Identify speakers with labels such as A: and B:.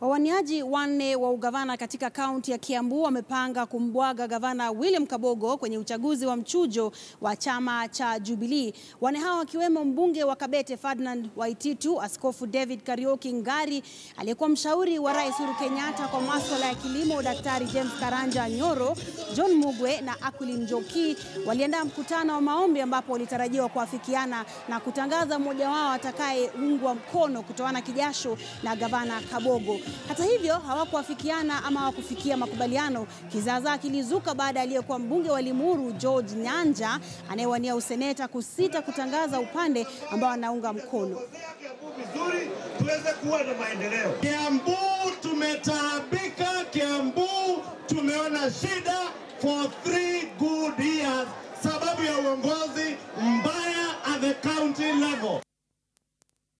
A: Wawaniaji wanne wa ugavana katika kaunti ya Kiambu wamepanga kumbwaga gavana William Kabogo kwenye uchaguzi wa mchujo wa chama cha Jubilee. Wanne hao wakiwemo mbunge wa Kabete Ferdinand Waititu, Askofu David Kariuki Ngari, aliyekuwa mshauri wa Rais Uhuru Kenyatta kwa masuala ya kilimo Daktari James Karanja Nyoro, John Mugwe na Aquilin Njoki waliandaa mkutano wa maombi ambapo walitarajiwa kuafikiana na kutangaza mmoja wao atakayeungwa mkono kutoana kijasho na gavana Kabogo. Hata hivyo hawakuafikiana ama hawakufikia makubaliano. Kizaazaa kilizuka baada aliyekuwa mbunge wa Limuru George Nyanja anayewania useneta kusita kutangaza upande ambao anaunga mkono.
B: Vizuri tuweze kuwa na maendeleo.
C: Kiambu tumetaabika, Kiambu tumeona shida for 3 good years sababu ya uongozi mbaya at the county level.